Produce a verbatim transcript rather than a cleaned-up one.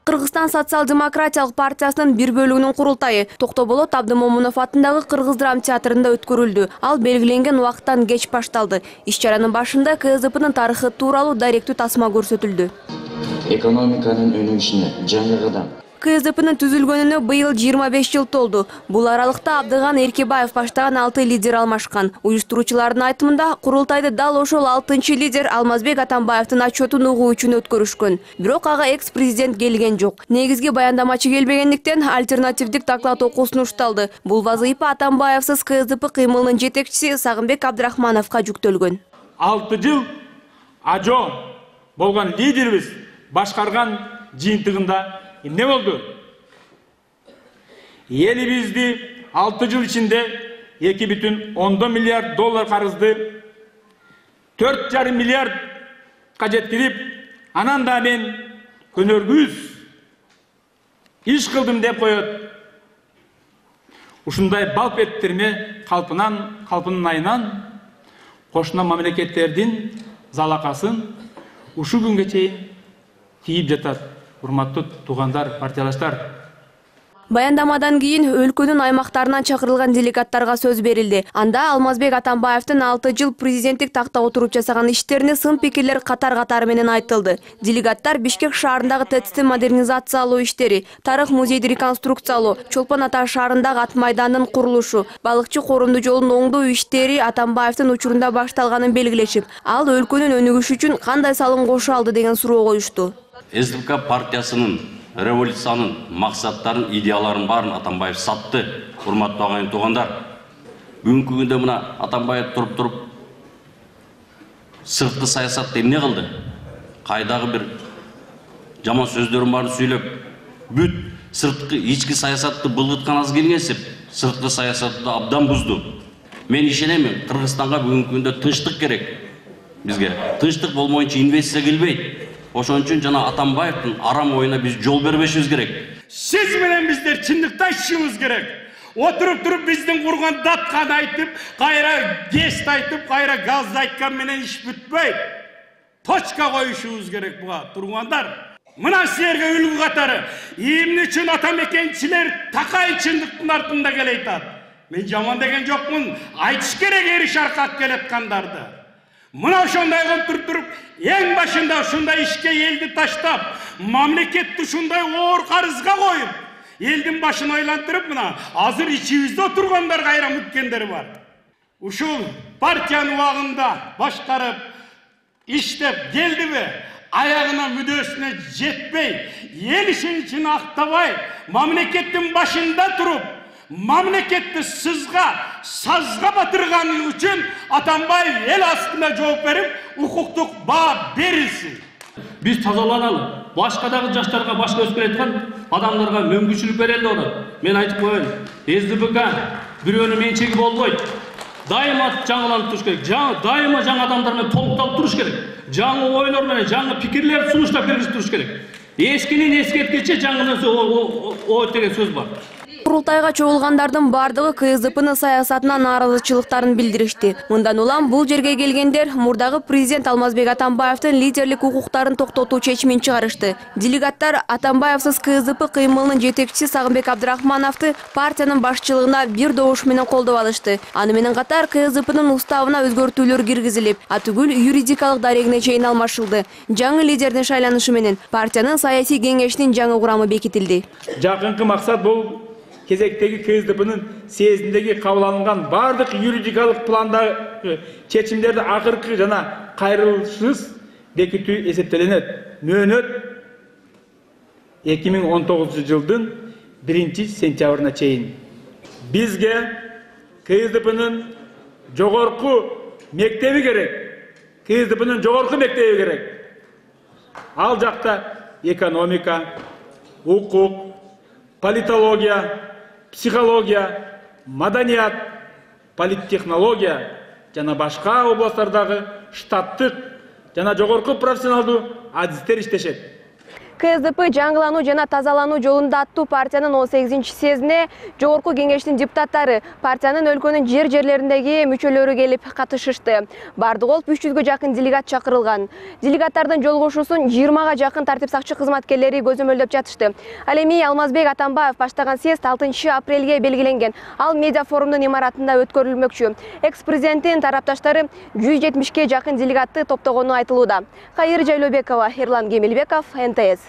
Кыргызстан социал-демократиялык партиясынын бир бөлүгүнүн курултайы Токтоболот Абдымомунов атындагы Кыргыз драма театрында өткөрүлдү. Ал белгиленген убакыттан кеч башталды. Иш-чаранын башында КСДПнын тарыхы тууралуу даректүү тасма көрсөтүлдү. Экономиканын өнүгүшүнө жаңы КСДПнын түзүлгөнүнө быйыл жыйырма беш жыл толду. Бул аралыкта Абдыган Эркебаев баштаган алты лидер алмашкан. Уюштуруучулардын айтымында, курултайды дал ошол алтынчы лидер Алмазбек Атамбаевдин отчетун угуу үчүн өткөрүшкөн. Бирок ага экс-президент келген жок. Негизги баяндамачы келбегендиктен альтернативдик доклад окуусу ушталды. Бул вазыйфа Атамбаевсыз КСДП кыймылынын жетекчиси Сагынбек Абдрахмановго жүктөлгөн. алты жыл ажо болгон лидерибиз башкарган жыйынтыгында эмне болду? Элибизди алты жыл ичинде эки бүтүн ондон миллиард доллар карызды төрт жарым миллиардка жеткирип, анан да мен көнөргүз иш кылдым деп коет. Ушундай балп эттерме калпынан, калпынын айынан кошуна мамлекеттердин залакасын ушу күнгө чейин тийип жатат. Урматтуу туугандар, партиялаштар. Баяндамадан кийин өлкөнүн аймактарынан чакырылган делегаттарга сөз берилди. Анда Алмазбек Атамбаевдин алты жыл президенттик такта отуруп жасаган иштерине сын пикирлер катар-катары менен айтылды. Делегаттар Бишкек шаарындагы ТЭЦти модернизациялоо иштери, тарых музейди реконструкциялоо, Чолпон Ата шаарындагы ат майдандын курулушу, балыкчы корунду жолун оңдоо иштери Атамбаевдин учурунда башталганын белгилешип, ал өлкөнүн өнүгүшү үчүн кандай салым кошо алды деген суроо коюшту. СДПК партиясынын революциянын максаттарын, идеяларын барын Атамбаев сатты. Урматтуу агайын туугандар, бүгүнкү күндө мына Атамбаев туруп туруп сырткы саясатты эмне кылды? Кайдагы бир жаман сөздөрүн барын сүйлөп, бүт сырткы ички саясатты былгыткан аз келгенсип, сырткы саясатты абдан бузду. Мен ишенемин, Кыргызстанга бүгүнкү күндө тынчтык керек. Бизге тынчтык болмоюнча инвестиция келбейт. Ошон үчүн жана Атамбаевдин арам оюна биз жол бербешибиз керек. Сиз менен биздер чындыкты айтышыбыз керек. Отуруп туруп биздин курган датканы айтып, кайра гест айтып, кайра газды айткан менен иш бүтпөйт. Точка коюшубуз керек буга, тургандар. Мына силерге үлгү катары эмне үчүн атамекенчилер такай чындыктын артында келейтат. Мен жаман деген жокмун, айтыш керек ери шаркак келаткандарды. Мына ошондой кылып туруп туруп, эң башында ушундай ишке элди таштап, мамлекетти ушундай оор карызга коюп, элдин башын айлантырып, мына азыр ичибизде отургандар кайра мүткендер бар. Ушул партиянын убагында башкарып, иштеп келдиби, аягына мүдөөсүнө жетпей, эл ишеничин актабай, мамлекеттин башында туруп, мамлекетти сызга, сазга батырганы үчүн Атамбаев эл астында жооп берип, укуктук баа берилсин. Биз тазаланалы, башка дагы жаштарга, башка өсүп келаткан адамдарга мүмкүнчүлүк берели деп атат. Мен айтып коеюн, СДПК бирөөнүн менчеги болбойт. Дайыма жаңыланып туруш керек. Дайыма жаңы адамдар менен толукталып туруш керек. Жаңы ойлор менен, жаңы пикирлер сунуштап бергизип туруш керек. Эскинин эскерткичи жаңы ой деген сөз бар. Курултайга чогулгандардын бардыгы КСДПнын саясатына нааразычылыктарын билдиришти. Мындан улам бул жерге келгендер мурдагы президент Алмазбек Атамбаевдин лидерлик укуктарын токтотуу чечимин чыгарышты. Делегаттар Атамбаевсыз КСДП кыймылынын жетекчиси Сагынбек Абдрахмановду партиянын башчылыгына бир добуш менен колдоп алышты. Аны менен катар КСДПнын уставына өзгөртүүлөр киргизилип, атүгүл юридикалык дарегине чейин алмашылды. Жаңы лидердин шайланышы менен партиянын саясий кеңешинин жаңы курамы бекитилди. Жакынкы максат бул кезектеги КСДПнын съездиндеги кабыл алынган бардык юридикалык пландагы чечимдерди акыркы жана кайрылышсыз бекитүү эсептелинет. Мөөнөт эки миң он тогузунчу жылдын биринчи сентябрына чейин. Бизге КСДПнын жогорку мектеби керек. КСДПнын жогорку мектеби керек. Ал жакта экономика, укук, политология, психология, маданият, политтехнология жана башка областтардагы штаттык жана жогорку профессионалдуу адистер иштешет. КСДП жаңылануу жана тазалануу жолунда аттуу партиянын он сегизинчи съездине жогорку кеңештин депутаттары, партиянын өлкөнүн жер жерлериндеги мүчөлөрү келип катышышты. Бардыгы болуп үч жүзгө жакын делегат чакырылган. Делегаттардын жолугушуусун жыйырмага жакын тартип сакчы кызматкерлери көзөмөлдөп жатышты. Ал эми Алмазбек Атамбаев баштаган съезд алтынчы апрелге белгиленген. Ал медиа форумдун имаратында өткөрүлмөкчү. Экс-президенттин тарапташтары жүз жетимишке жакын делегатты топтогону айтылууда. Кайыр Жайлообекова, Эрлан Кемелбеков, эн тэ эс.